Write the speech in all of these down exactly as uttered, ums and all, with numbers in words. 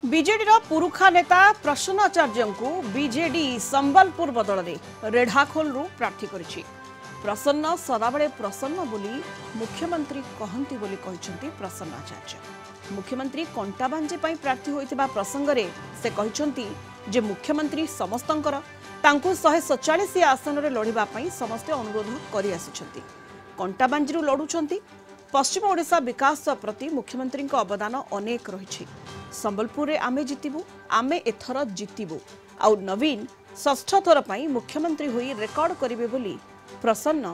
ବିଜେଡିର ପୁରୁଖା ନେତା ପ୍ରସନ୍ନ ଆଚାର୍ଯ୍ୟଙ୍କୁ ବିଜେଡି ସମ୍ବଲପୁର ବଦଳରେ ରେଢ଼ାଖୋଲରୁ ପ୍ରାର୍ଥୀ କରିଛି। ପ୍ରସନ୍ନ ସଦାବେଳେ ପ୍ରସନ୍ନ ବୋଲି ମୁଖ୍ୟମନ୍ତ୍ରୀ କହନ୍ତି ବୋଲି କହିଛନ୍ତି ପ୍ରସନ୍ନ ଆଚାର୍ଯ୍ୟ। ମୁଖ୍ୟମନ୍ତ୍ରୀ କଣ୍ଟାବାଞ୍ଜି ପାଇଁ ପ୍ରାର୍ଥୀ ହୋଇଥିବା ପ୍ରସଙ୍ଗରେ ସେ କହିଛନ୍ତି ଯେ ମୁଖ୍ୟମନ୍ତ୍ରୀ ସମସ୍ତଙ୍କର, ତାଙ୍କୁ ଶହେ ସତଚାଳିଶ ଆସନରେ ଲଢ଼ିବା ପାଇଁ ସମସ୍ତେ ଅନୁରୋଧ କରିଆସୁଛନ୍ତି। କଣ୍ଟାବାଞ୍ଜିରୁ ଲଢୁଛନ୍ତି। ପଶ୍ଚିମ ଓଡ଼ିଶା ବିକାଶ ପ୍ରତି ମୁଖ୍ୟମନ୍ତ୍ରୀଙ୍କ ଅବଦାନ ଅନେକ ରହିଛି। ସମ୍ବଲପୁରରେ ଆମେ ଜିତିବୁ, ଆମେ ଏଥର ଜିତିବୁ, ଆଉ ନବୀନ ଷଷ୍ଠ ଥର ପାଇଁ ମୁଖ୍ୟମନ୍ତ୍ରୀ ହୋଇ ରେକର୍ଡ କରିବେ ବୋଲି ପ୍ରସନ୍ନ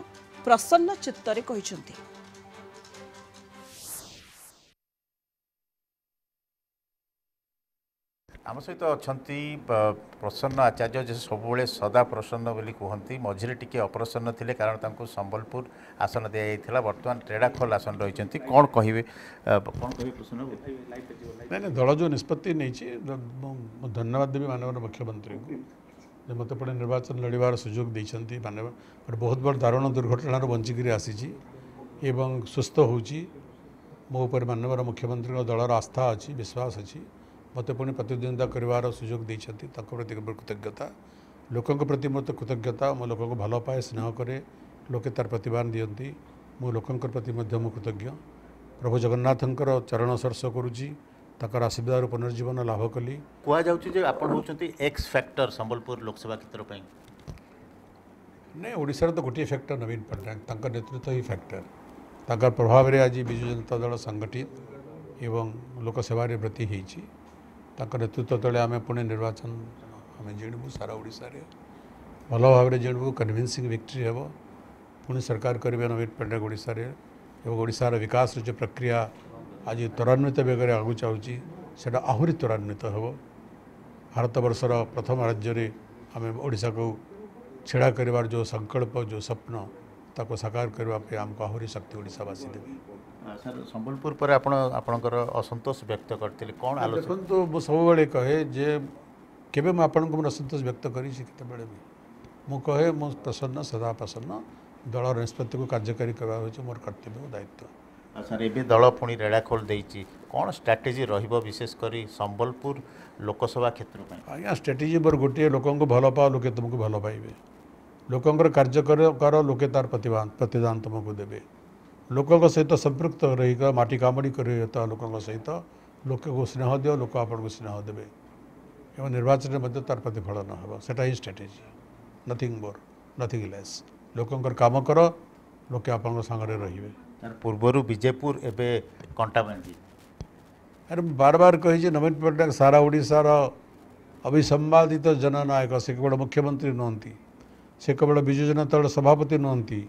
ପ୍ରସନ୍ନ ଚିତ୍ତରେ କହିଛନ୍ତି। ଆମ ସହିତ ଅଛନ୍ତି ପ୍ରସନ୍ନ ଆଚାର୍ଯ୍ୟ, ଯେ ସବୁବେଳେ ସଦା ପ୍ରସନ୍ନ ବୋଲି କୁହନ୍ତି। ମଝିରେ ଟିକେ ଅପ୍ରସନ୍ନ ଥିଲେ, କାରଣ ତାଙ୍କୁ ସମ୍ବଲପୁର ଆସନ ଦିଆଯାଇଥିଲା। ବର୍ତ୍ତମାନ ରେଢ଼ାଖୋଲ ଆସନ ରହିଛନ୍ତି। କ'ଣ କହିବେ, କ'ଣ କହିବେ ପ୍ରସନ୍ନ? ନାଇଁ ନାଇଁ, ଦଳ ଯେଉଁ ନିଷ୍ପତ୍ତି ନେଇଛି, ମୁଁ ଧନ୍ୟବାଦ ଦେବି ମାନ୍ୟବର ମୁଖ୍ୟମନ୍ତ୍ରୀଙ୍କୁ ଯେ ମୋତେ ପୁଣି ନିର୍ବାଚନ ଲଢ଼ିବାର ସୁଯୋଗ ଦେଇଛନ୍ତି। ମାନେ ଗୋଟେ ବହୁତ ବଡ଼ ଦାରୁଣ ଦୁର୍ଘଟଣାରୁ ବଞ୍ଚିକିରି ଆସିଛି ଏବଂ ସୁସ୍ଥ ହେଉଛି। ମୋ ଉପରେ ମାନ୍ୟବର ମୁଖ୍ୟମନ୍ତ୍ରୀଙ୍କ ଦଳର ଆସ୍ଥା ଅଛି, ବିଶ୍ୱାସ ଅଛି, ମୋତେ ପୁଣି ପ୍ରତିଦ୍ୱନ୍ଦିତା କରିବାର ସୁଯୋଗ ଦେଇଛନ୍ତି। ତାଙ୍କ ପ୍ରତି କୃତଜ୍ଞତା, ଲୋକଙ୍କ ପ୍ରତି ମୋତେ କୃତଜ୍ଞତା। ମୁଁ ଲୋକଙ୍କୁ ଭଲ ପାଏ, ସ୍ନେହ କରେ, ଲୋକେ ତାର ପ୍ରତିଦାନ ଦିଅନ୍ତି। ମୁଁ ଲୋକଙ୍କ ପ୍ରତି ମଧ୍ୟ ମୁଁ କୃତଜ୍ଞ। ପ୍ରଭୁ ଜଗନ୍ନାଥଙ୍କର ଚରଣ ସ୍ପର୍ଶ କରୁଛି, ତାଙ୍କର ଆଶୀର୍ବାଦରୁ ପୁନର୍ଜୀବନ ଲାଭ କଲି। କୁହାଯାଉଛି ଯେ ଆପଣ ହେଉଛନ୍ତି ଏକ୍ସ ଫ୍ୟାକ୍ଟର ସମ୍ବଲପୁର ଲୋକସଭା କ୍ଷେତ୍ର ପାଇଁ। ନାଇଁ, ଓଡ଼ିଶାର ତ ଗୋଟିଏ ଫ୍ୟାକ୍ଟର ନବୀନ ପଟ୍ଟନାୟକ, ତାଙ୍କ ନେତୃତ୍ୱ ହିଁ ଫ୍ୟାକ୍ଟର। ତାଙ୍କର ପ୍ରଭାବରେ ଆଜି ବିଜୁ ଜନତା ଦଳ ସଂଗଠିତ ଏବଂ ଲୋକସେବାରେ ବ୍ରତୀ ହେଇଛି। ତାଙ୍କ ନେତୃତ୍ୱ ତଳେ ଆମେ ପୁଣି ନିର୍ବାଚନ ଆମେ ଜିଣିବୁ, ସାରା ଓଡ଼ିଶାରେ ଭଲ ଭାବରେ ଜିଣିବୁ, କନଭିନ୍ସିଂ ଭିକ୍ଟ୍ରି ହେବ। ପୁଣି ସରକାର କରିବେ ନବୀନ ପଟ୍ଟନାୟକ ଓଡ଼ିଶାରେ ଏବଂ ଓଡ଼ିଶାର ବିକାଶର ଯେଉଁ ପ୍ରକ୍ରିୟା ଆଜି ତ୍ୱରାନ୍ୱିତ ବେଗରେ ଆଗକୁ ଯାଉଛି, ସେଇଟା ଆହୁରି ତ୍ୱରାନ୍ୱିତ ହେବ। ଭାରତବର୍ଷର ପ୍ରଥମ ରାଜ୍ୟରେ ଆମେ ଓଡ଼ିଶାକୁ ଛିଡ଼ା କରିବାର ଯେଉଁ ସଂକଳ୍ପ, ଯେଉଁ ସ୍ୱପ୍ନ, ତାକୁ ସାକାର କରିବା ପାଇଁ ଆମକୁ ଆହୁରି ଶକ୍ତି ଓଡ଼ିଶାବାସୀ ଦେବେ। ସାର୍, ସମ୍ବଲପୁର ପରେ ଆପଣ ଆପଣଙ୍କର ଅସନ୍ତୋଷ ବ୍ୟକ୍ତ କରିଥିଲେ, କ'ଣ ଆଲୋଚନା? ଦେଖନ୍ତୁ, ମୁଁ ସବୁବେଳେ କହେ ଯେ କେବେ ମୁଁ ଆପଣଙ୍କୁ ମୋର ଅସନ୍ତୋଷ ବ୍ୟକ୍ତ କରିଛି? କେତେବେଳେ ବି ମୁଁ କହେ, ମୁଁ ପ୍ରସନ୍ନ, ସଦା ପ୍ରସନ୍ନ। ଦଳର ନିଷ୍ପତ୍ତିକୁ କାର୍ଯ୍ୟକାରୀ କରିବା ହେଉଛି ମୋର କର୍ତ୍ତବ୍ୟ ଓ ଦାୟିତ୍ୱ। ସାର୍, ଏବେ ଦଳ ପୁଣି ରେଢ଼ାଖୋଲ ଦେଇଛି, କ'ଣ ଷ୍ଟ୍ରାଟେଜି ରହିବ ବିଶେଷ କରି ସମ୍ବଲପୁର ଲୋକସଭା କ୍ଷେତ୍ର ପାଇଁ? ଆଜ୍ଞା, ଷ୍ଟ୍ରାଟେଜି ମୋର ଗୋଟିଏ, ଲୋକଙ୍କୁ ଭଲ ପାଅ, ଲୋକେ ତୁମକୁ ଭଲ ପାଇବେ। ଲୋକଙ୍କର କାର୍ଯ୍ୟ କର, ଲୋକେ ତାର ପ୍ରତିଦାନ ତୁମକୁ ଦେବେ। ଲୋକଙ୍କ ସହିତ ସମ୍ପୃକ୍ତ ରହିକ, ମାଟି କାମୁଡ଼ି କରି ଲୋକଙ୍କ ସହିତ, ଲୋକକୁ ସ୍ନେହ ଦିଅ, ଲୋକ ଆପଣଙ୍କୁ ସ୍ନେହ ଦେବେ ଏବଂ ନିର୍ବାଚନରେ ମଧ୍ୟ ତାର ପ୍ରତିଫଳନ ହେବ। ସେଟା ହିଁ strategy, nothing more nothing less. ଲୋକଙ୍କର କାମ କର, ଲୋକେ ଆପଣଙ୍କ ସାଙ୍ଗରେ ରହିବେ। ପୂର୍ବରୁ ବିଜେପୁର, ଏବେ କଣ୍ଟାବାଞ୍ଜି। ଆରେ, ମୁଁ ବାର ବାର କହିଛି, ନବୀନ ପଟ୍ଟନାୟକ ସାରା ଓଡ଼ିଶାର ଅବିସମ୍ବାଦିତ ଜନନାୟକ। ସେ କେବଳ ମୁଖ୍ୟମନ୍ତ୍ରୀ ନୁହନ୍ତି, ସେ କେବଳ ବିଜୁ ଜନତା ଦଳ ସଭାପତି ନୁହନ୍ତି,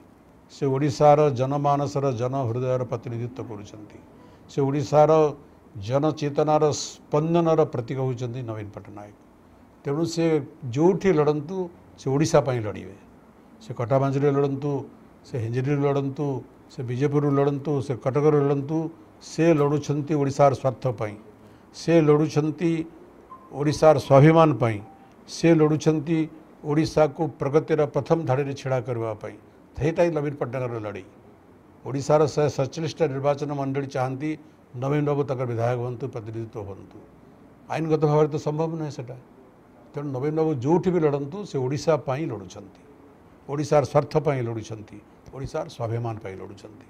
ସେ ଓଡ଼ିଶାର ଜନମାନସର ଜନ ହୃଦୟର ପ୍ରତିନିଧିତ୍ୱ କରୁଛନ୍ତି। ସେ ଓଡ଼ିଶାର ଜନଚେତନାର ସ୍ପନ୍ଦନର ପ୍ରତୀକ ହେଉଛନ୍ତି ନବୀନ ପଟ୍ଟନାୟକ। ତେଣୁ ସେ ଯେଉଁଠି ଲଢ଼ନ୍ତୁ, ସେ ଓଡ଼ିଶା ପାଇଁ ଲଢ଼ିବେ। ସେ କଟାବାଞ୍ଜିରେ ଲଢ଼ନ୍ତୁ, ସେ ହିଞ୍ଜିଳିରୁ ଲଢ଼ନ୍ତୁ, ସେ ବିଜେପୁରରୁ ଲଢ଼ନ୍ତୁ, ସେ କଟକରୁ ଲଢ଼ନ୍ତୁ, ସେ ଲଢ଼ୁଛନ୍ତି ଓଡ଼ିଶାର ସ୍ୱାର୍ଥ ପାଇଁ, ସେ ଲଢ଼ୁଛନ୍ତି ଓଡ଼ିଶାର ସ୍ୱାଭିମାନ ପାଇଁ, ସେ ଲଢ଼ୁଛନ୍ତି ଓଡ଼ିଶାକୁ ପ୍ରଗତିର ପ୍ରଥମ ଧାଡ଼ିରେ ଛିଡ଼ା କରିବା ପାଇଁ। ସେଇଟା ହିଁ ନବୀନ ପଟ୍ଟନାୟକର ଲଢ଼େଇ। ଓଡ଼ିଶାର ଶହେ ସତଚାଳିଶଟା ନିର୍ବାଚନ ମଣ୍ଡଳୀ ଚାହାନ୍ତି ନବୀନ ବାବୁ ତାଙ୍କର ବିଧାୟକ ହୁଅନ୍ତୁ, ପ୍ରତିନିଧିତ୍ୱ ହୁଅନ୍ତୁ। ଆଇନଗତ ଭାବରେ ତ ସମ୍ଭବ ନୁହେଁ ସେଇଟା। ତେଣୁ ନବୀନ ବାବୁ ଯେଉଁଠି ବି ଲଢ଼ନ୍ତୁ, ସେ ଓଡ଼ିଶା ପାଇଁ ଲଢ଼ୁଛନ୍ତି, ଓଡ଼ିଶାର ସ୍ୱାର୍ଥ ପାଇଁ ଲଢ଼ୁଛନ୍ତି, ଓଡ଼ିଶାର ସ୍ୱାଭିମାନ ପାଇଁ ଲଢ଼ୁଛନ୍ତି।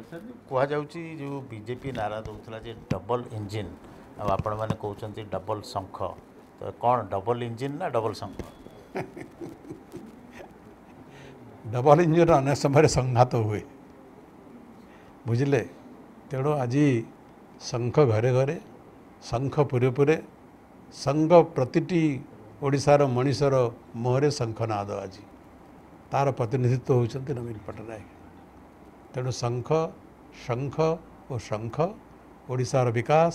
ସାର୍, କୁହାଯାଉଛି ଯେଉଁ ବିଜେପି ନାରା ଦେଉଥିଲା ଯେ ଡବଲ ଇଞ୍ଜିନ୍, ଆଉ ଆପଣମାନେ କହୁଛନ୍ତି ଡବଲ ଶଙ୍ଖ, ତ କ'ଣ ଡବଲ ଇଞ୍ଜିନ୍ ନା ଡବଲ ଶଙ୍ଖ? ଡବଲ ଇଞ୍ଜିନ୍ ଅନେକ ସମୟରେ ସଂଘାତ ହୁଏ, ବୁଝିଲେ? ତେଣୁ ଆଜି ଶଙ୍ଖ ଘରେ ଘରେ, ଶଙ୍ଖ ପୁରେ ପୁରେ, ଶଙ୍ଖ ପ୍ରତିଟି ଓଡ଼ିଶାର ମଣିଷର ମୁହଁରେ ଶଙ୍ଖନାଦ। ଆଜି ତାର ପ୍ରତିନିଧିତ୍ୱ ହେଉଛନ୍ତି ନବୀନ ପଟ୍ଟନାୟକ। ତେଣୁ ଶଙ୍ଖ, ଶଙ୍ଖ ଓ ଶଙ୍ଖ, ଓଡ଼ିଶାର ବିକାଶ,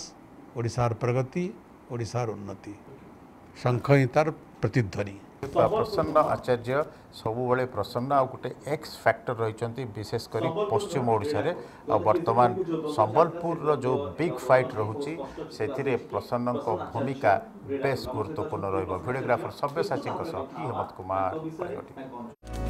ଓଡ଼ିଶାର ପ୍ରଗତି, ଓଡ଼ିଶାର ଉନ୍ନତି, ଶଙ୍ଖ ହିଁ ତାର ପ୍ରତିଧ୍ୱନି। ପ୍ରସନ୍ନ ଆଚାର୍ଯ୍ୟ ସବୁବେଳେ ପ୍ରସନ୍ନ, ଆଉ ଗୋଟେ ଏକ୍ସ ଫ୍ୟାକ୍ଟର ରହିଛନ୍ତି ବିଶେଷ କରି ପଶ୍ଚିମ ଓଡ଼ିଶାରେ। ଆଉ ବର୍ତ୍ତମାନ ସମ୍ବଲପୁରର ଯେଉଁ ବିଗ୍ ଫାଇଟ୍ ରହୁଛି, ସେଥିରେ ପ୍ରସନ୍ନଙ୍କ ଭୂମିକା ବେଶ ଗୁରୁତ୍ୱପୂର୍ଣ୍ଣ ରହିବ। ଭିଡ଼ିଓଗ୍ରାଫର ସବ୍ୟସାଚୀଙ୍କ ସହ ପି ହେମନ୍ତ କୁମାର, କଳିଙ୍ଗ।